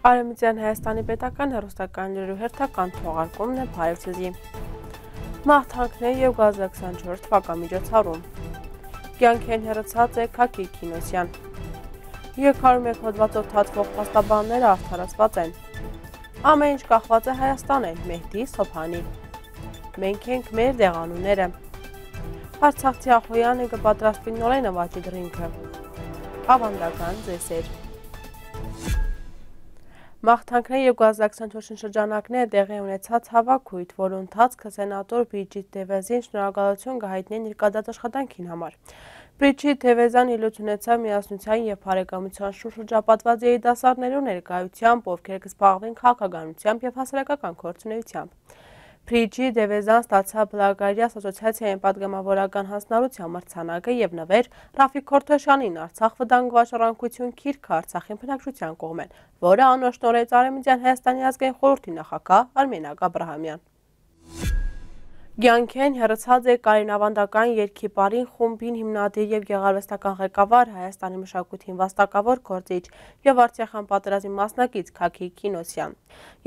Արևմտյան Հայաստանի պետական հեռուստական լուրի հերթական թողարկումն է Փարիզի։ Մաղթանքներ եւ գազա 24 թվականմիջոցառում։ Կյանքեն հեռացած է Քաքի Քինոսյան։ 301 հոդվածով թաթվող փաստաբանները արդարացված են։ Ամեն ինչ կախված է Հայաստանեն, Մեհդի Սոփանի։ Մենք ենք մեր դեղանունները։ Արցախցի Ախոյանը կպատրաստվի նորեն նվաճի դրինքը։ Ավանդական ձեսեր։ Մաղթանքներ եւ գազա 24 շրջանակները տեղի ունեցած հավաքույթ, որի ընթացքը սենատոր Բրիջիթ Դևեզին շնորհակալություն կհայտնի ներկայացած աշխատանքին համար։ Բրիջիթ Դևեզան ելույթ ունեցավ միասնության եւ բարեկամության շուրջ շրջապատված երիտասարդներու ներկայությամբ, ովքեր կզբաղվեն քաղաքականությամբ եւ հասարակական գործունեությամբ։ Բրիջիթ Դևեզան ստացավ Բլագարիա ասոցիացիային պատգամավորական հանձնարարության մրցանակը եւ նվեր Ռաֆիկ Քորթոշյանին Արցախ վտանգված ժառանգություն Քիրքը Արցախին բնակչության կողմեն, որը անոշնորհեց Արևմտյան Հայաստանի ազգային խորհրդի նախագահ Արմենակ Աբրահամյան։ Կյանքեն հեռացած է Կարինավանդական երգիպարին խումբին հիմնադիր եւ գեղարվեստական ղեկավար Հայաստանի մշակույթին վաստակավոր գործիչ եւ Արցախյան պատերազմի մասնակից Քաքի Քինոսյան։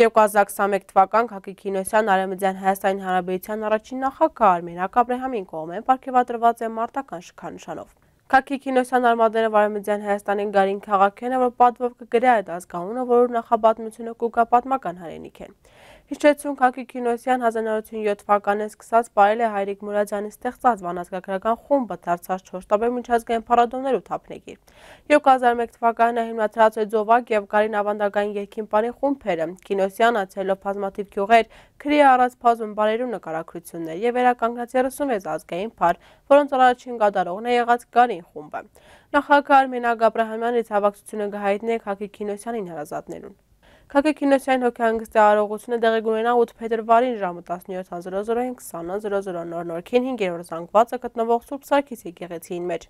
2021 թվական Քաքի Քինոսյան Արևմտյան Հայաստանի Հանրապետության առաջին նախագահ Արմենակ Աբրահամին կողմեն պարգևատրված է մարտական շքանշանով։ Քաքի Քինոսյան արմատները Արևմտյան Հայաստանի Գարին քաղաքն է, որ պատվով կգրե այդ ազգանունը, որը նախապատմությունը կուգա պատմական հայրենիք է։ Հիշեցուն Քաքի Քինոսյան 1907 թվականին սկսած պարել է Հայրիկ Մուրադյանի ստեղծած վանածգագրական խումբը դարձած 4 տարբեր միջազգային փառատոներ ու թափնեկիր։ 2001 թվականին հիմնադրած է Ձովակ եւ Կարին ավանդական երգիպարի խումբերը։ Քինոսյանը ցելով բազմաթիվ գյուղեր, քրի առած բազում բարերու նկարագրություններ եւ վերականգնած 36 ազգային փառ, որոնց առաջին կատարողն է եղած Գարին խումբը։ Նախագահ Արմենակ Աբրահամյանը ցավակցությունը կհայտնի Քաքի Քինոսյանին հարազատներուն։ Քաքի Քինոսյան հոգեհանգստի արարողությունը տեղի կունենա 8 փետրվարին ժամը 17:00-ին 20:00 նոր-նորքին 5-րդ զանգվածը գտնվող Սուրբ Սարգիս եկեղեցին մեջ։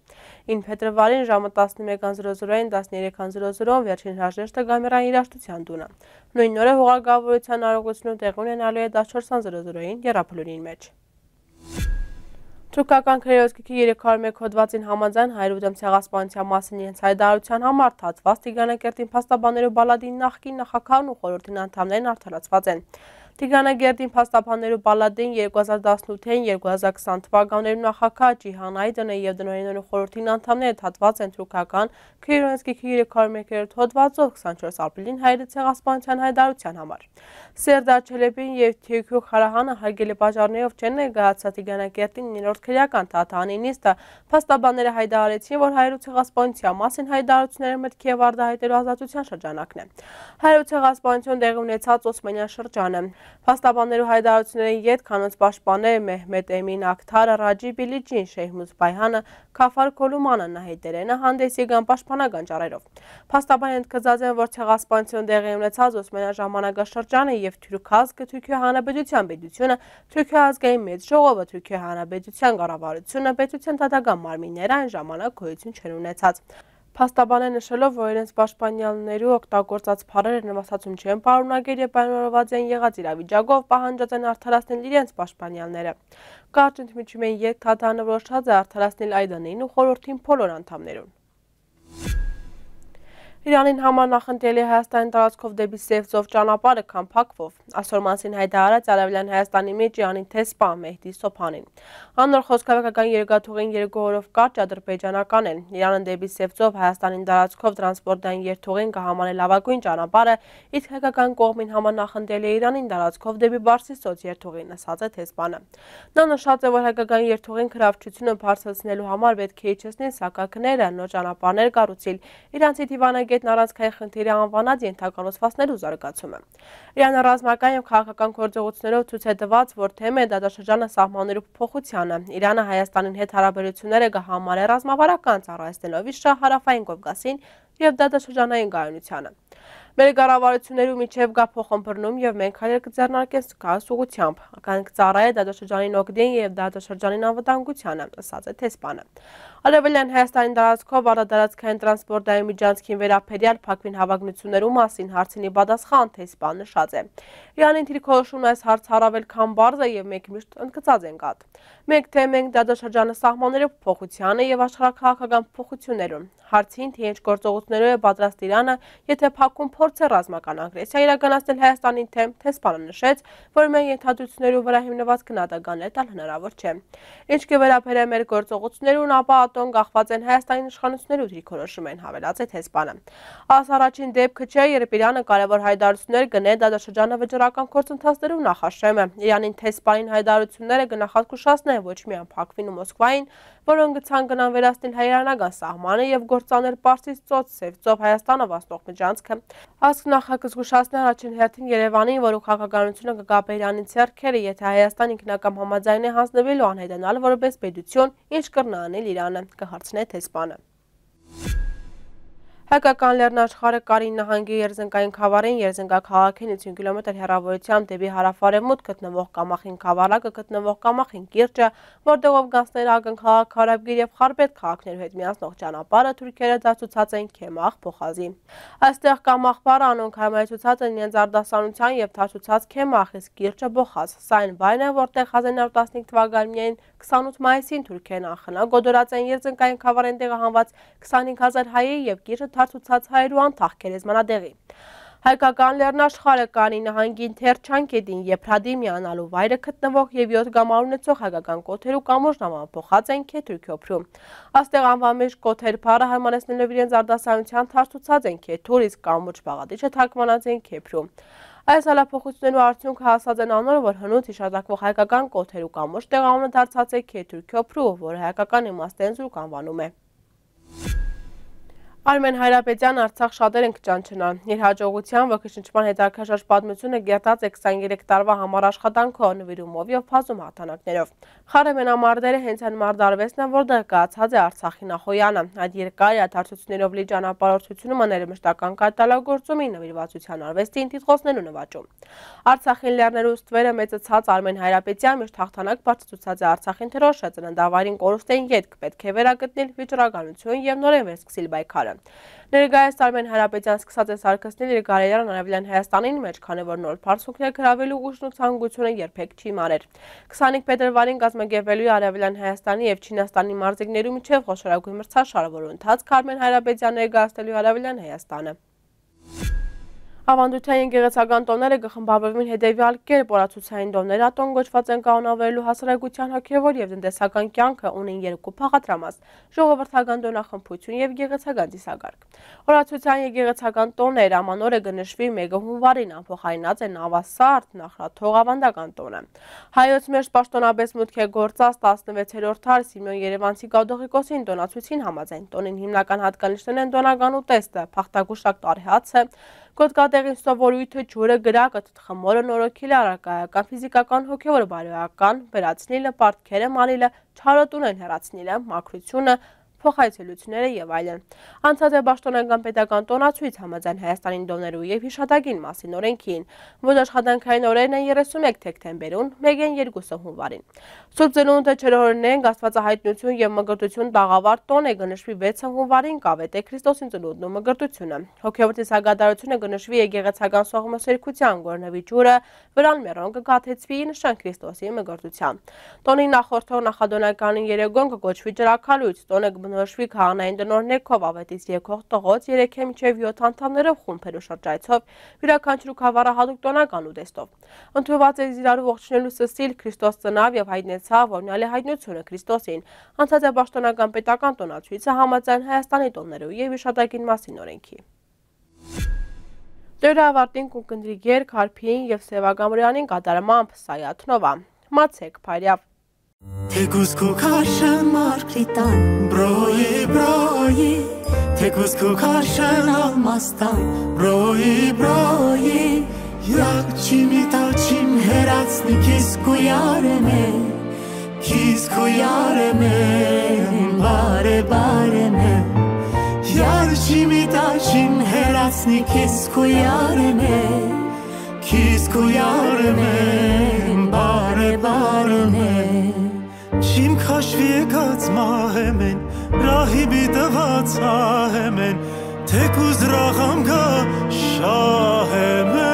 9 փետրվարին ժամը 11:00-ին 13:00 վերջին հրաժեշտը Գամերային երաժշտության տունը։ Նույն օրը հողագավորության արարողությունը տեղի ունենալու է 14:00-ին Եռափլունին մեջ։ Թուրքական քրեոսկիքի 301 հոդվածին համաձայն հայրուտեմ ցեղասպանության մասին իրենց հայտարարության համար թացված Տիգրանագերդին փաստաբաններու բալադի նախկին նախագահն ու խորհրդին անդամներն արդարացված են։ Տիգրանագերդին փաստաբաններու բալադին 2018-ին 2020 թվականներու նախագահ Ջիհան Այդենը եւ դնորենորու խորհրդին անդամները թաթված են թուրքական քրեոսկիքի 301 հոդվածով 24 ապրիլին հայրի ցեղասպանության հայտարարության համար։ Սերդար Չելեբին եւ Թյոքյո Խարահանը հարգելի բաժարներով չեն ներկայացած Տիգրանագերդին 9-րդ քրեական թաթանի նիստը փաստաբանները հայտարարեցին, որ հայրու ցեղասպանության մասին հայտարարությունները մտքի եւ արտահայտելու ազատության շրջանակն է։ Հայրու ցեղասպանություն տեղի ունեցած Օսմանյան շրջանը։ Փաստաբաններու հայտարարությունների յետ կանոնց պաշտպաններ Մեհմեդ Էմին Աքթարը, Ռաջի Բիլիջին, Շեյխմուզ Բայհանը, Քաֆար Քոլումանը Նահիդերենը հանդես եկան պաշտպանական ճառերով։ Փաստաբանները ընդգծած են, որ ցեղասպանություն տեղի ունեցած Օսմանյան ժամանակաշրջանը եւ Թուրք ազգը, Թուրքիա Հանրապետության պետությունը, Թուրքիա ազգային մեծ ժողովը, Թուրքիա Հանրապետության կառավարությունը, պետության դատական մարմինները այն ժամանակ գոյություն չեն ունեցած։ Փաստաբանը նշելով, որ իրենց պաշտպանյալներու օգտագործած փառերը նվաստացում չեն պարունակել եւ պայմանավորված են եղած իրավիճակով պահանջած են արդարացնել իրենց պաշտպանյալները։ Կարճ ընդմիջումեն երկ թաթանը որոշած է արդարացնել Այդանին ու խորհրդին բոլոր անդամներուն։ Իրանին համար նախընտրելի Հայաստանի տարածքով դեպի Սևծով ճանապարհը քամփակվով այսօր մասին հայտարարած Արևելյան Հայաստանի մեջ Իրանի տեսփա Մեհդի Սոփանին։ Անոր խոսքավեկական երկաթուղին երկու օրով կարճ ադրբեջանական են։ Իրանը դեպի Սևծով Հայաստանին տարածքով տրանսպորտային երթուղին կհամարի լավագույն ճանապարհը, իսկ հայկական կողմին համար նախընտրելի է Իրանին տարածքով դեպի Բարսիսոց երթուղին, ասաց է տեսփանը։ Նա նշած է, որ հայկական երթուղին քրավչությունը բարձրացնելու համար պետք է իջեցնել սակակները, նոր ճանապարհներ կառուցել։ Իրանցի դիվանագետն առանցքային խնդիրի անվանած ենթակառուցվածքներու զարգացումը։ Իրանը ռազմական եւ քաղաքական գործողություններով ցույց է տված, որ թեմ է դատաշրջանը սահմաններու փոփոխությանը։ Իրանը Հայաստանին հետ հարաբերությունները կհամարի ռազմավարական ծառայեցնելով իր հարավային Կովկասին եւ դատաշրջանային գայունությանը։ Մեր կառավարություններու միջև կա փոխըմբռնում եւ մենք հայեր կձեռնարկենք զգաս ուղությամբ։ Կանք ծառայե դատաշրջանին օգնին եւ դատաշրջանին անվտանգությանը, ասաց է տեսփանը։ Արևելյան Հայաստանի տարածքով արտադարձքային տրանսպորտային միջանցքին վերաբերյալ փակվին հավակնություններու մասին հարցինի պատասխան տեսփան նշած է։ Իրանին թիրքորոշումն այս հարց առավել քան բարձ է եւ մենք միշտ ընդգծած ենք այդ։ Մենք թե մենք դատաշրջանը սահմաններու փոխությանը եւ աշխարհաքաղաքական փոխություններուն։ Հարցին թե ինչ գործողություններով է պատրաստ Իրանը, եթե փակ քաղաքում փորձ է ռազմական ագրեսիա իրականացնել Հայաստանի թեմ, Թեսպանը նշեց, որ մեր ենթադրությունների վրա հիմնված գնահատականներ տալ հնարավոր չէ։ Ինչ կվերաբերե մեր գործողություններուն, ապա ատոն կախված են Հայաստանի իշխանությունների դիրքորոշում են, հավելած է Թեսպանը։ Այս առաջին դեպքը չէ, երբ Իրանը կարևոր հայտարարություններ գնել դադարշրջանը վճռական գործընթացներով նախաշեմ է։ Իրանին Թեսպանին հայտարարությունները գնահատակշացնեն ոչ միայն Բաքվին ու Մոսկվային, որոնք գցան գնան վերացնել հայ-իրանական սահմանը եւ գործանել Պարսից ծոց, Սև ծով Հայաստանը վաստող միջանցքը։ Ասք նախակզգուշացնի առաջին հերթին Երևանին, որը քաղաքականությունը կգապե Իրանի ձեռքերը, եթե Հայաստան ինքնակամ համաձայնի հանձնվելու անհետանալ որպես պետություն, ինչ կրնա անել Իրանը, կհարցնե Թեսպանը։ Հայկական Լեռնաշխարհը Կարին նահանգի Երզնկային խավարին Երզնկաքաղաքին 50 կիլոմետր հեռավորությամբ դեպի հարավարևմուտք գտնվող Կամախին խավարակը գտնվող Կամախին կիրճը, որտեղով գանցներ ակնքաղաք Խարաբգիր եւ Խարբետ քաղաքներու հետ միացնող ճանապարհը թուրքերը դարձուցած են Քեմախ Փոխազի։ Այստեղ Կամախ բառը անոնք հարմարեցուցած են իրենց արտասանության եւ դարձուցած Քեմախ, իսկ կիրճը Բոխազ։ Սա այն վայրն է, որտեղ 1915 թվականին 28 մայիսին թուրքերն անխնա գոդորած են Երզնկային խավարեն տեղահանված 25000 հայերի եւ կիրճը դարձուցած հայերու անթաղ քերեզմանադեղի։ Հայկական Լեռնաշխարհը Կարի նահանգի Թերչանկետին Եփրադի միանալու վայրը գտնվող եւ 7 գամար ունեցող հայկական կոթերու կամուրջն ամփոխած են Քեթուրքյոփրու։ Աստեղ անվամեջ կոթեր բառը հարմարեցնելով իրենց արտասանության դարձուցած են Քեթուր, իսկ կամուրջ բաղադիչը թարգմանած են Քեփրու։ Այս հալափոխություններու արդյունքը հասած են անոր, որ հնուց հիշատակվող հայկական կոթերու կամուրջ տեղանունը դարձած է Քեթուրքյոփրու, որը հայկական իմաստեն զուրկ անվանում է։ Արմեն Հայրապետյան Արցախ շատեր են կճանչնան։ Իր հաջողության ոգեշնչման հետաքրքիր պատմությունը գերտած է 23 տարվա համար աշխատանքով, նվիրումով եւ բազում հաղթանակներով։ Խարեմենամարտերը հենց այն մարտարվեստն է, որտեղ կայացած է Արցախի նախոյանը։ Այդ երկար իրադարձություններով լի ճանապարհորդությունը մաներմշտական կատարելագործումի նվիրվածության արվեստին տիտղոսներու նվաճում։ Արցախին լեռներու ստվերը մեծացած Արմեն Հայրապետյան միշտ հաղթանակ բարձրացուցած է Արցախին թրոշը ծննդավայրին կորուստեն ետք պետք է վերագտնել վիճռականություն եւ նորեն վերսկսել պայքարը։ Ներկայիս Արմեն Հայրապետյան սկսած է սարքեցնել իր կարիերան Արևելյան Հայաստանին մեջ, քանի որ նոր բարձունքներ գրավելու ուժն ու ցանկությունը երբեք չի մարել։ 25 փետրվարին կազմակերպվելու է Արևելյան Հայաստանի եւ Չինաստանի մարզիկներու միջև խոշորագույն մրցաշար, որը ընթացք Արմեն Հայրապետյան ներկայացնելու Արևելյան Հայաստանը։ Ավանդության եկեղեցական տոները կխմբավորվին հետևյալ կերպ օրացուցային տոներ ատոն գոչված են կանոնավորելու հասարակության հոգևոր եւ տնտեսական կյանքը ունեն երկու փաղադրամաս՝ ժողովրդական տոնախմբություն եւ եկեղեցական ծիսակարգ։ Օրացուցային եկեղեցական տոներ ամանորը կնշվի 1 հունվարին ամփոխայնած են Ավասարդ նախրաթող ավանդական տոնը։ Հայոց մեջ պաշտոնապես մուտք է գործած 16-րդ դար Սիմեոն Երևանցի կաթողիկոսին տոնացույցին համաձայն տոնին հիմնական հատկանիշներն են տոնական ուտեստը, փախտագուշակ տարեհացը, Կոդկատեղին սովորույթը, ջուրը, գրակը, թխմորը, նորոգիլը, առարկայական, ֆիզիկական, հոգևոր բարոյական, վերացնիլը, պարտքերը մանիլը, չարոտունեն հեռացնիլը, մաքրությունը, փոխայցելությունները եւ այլն։ Անցած է պաշտոնական պետական տոնացույց համաձայն Հայաստանի տոներու եւ հիշատակին մասին օրենքին, որ աշխատանքային օրերն են 31 դեկտեմբերին, 1-ին 2 հունվարին։ Սուրբ Ծնունդը չորհորնենք Աստվածահայտնություն եւ մկրտություն տաղավար տոն է կնշվի 6 հունվարին կավետ է Քրիստոսին ծնունդն ու մկրտությունը։ Հոգևոր ծիսագադարությունը կնշվի եկեղեցական սողմոսերքության գորնվի ջուրը, վրան մերոն կգաթեցվի նշան Քրիստոսի մկրտության։ Տոնի նախորդող նախադոնականին երեգոն կգոչվի ջրակալույց, տոնը նորոշվի քաղաքային տնօրիներով ավետից եկող տղոց 3-ը մինչև 7 անդամներով խումբերու շրջայցով յուրաքանչյուր խավարը հատուկ տոնական ուտեստով։ Ընդունված է իրարու ողջունելու սսիլ Քրիստոս ծնավ եւ հայտնեցավ օրնյալի հայտնությունը Քրիստոսին։ Անցած է պաշտոնական պետական տոնացույցը համաձայն Հայաստանի տոներու եւ հիշատակին մասին օրենքի։ Դերը ավարտին կունկնդրի գեր Քարփիին եւ Սևագամրյանին կատարմամբ Սայաթնովա։ Մացեք Փարյավ Թեկուզ քուքաշն մարգրիտան, բրոյի, թեկուզ քուքաշն ալմաստան, բրոյի, յակ չիմիտաչիմ հերացնի կիս կույարեմ, բարեմ, յար չիմիտաչիմ հերացնի կիս կույարեմ, բարեմ, Չիմ քաշվի եկած մահեմ են, ռահիբի տված ահեմ են, թեկուզ ռաղամ գա շահեմ են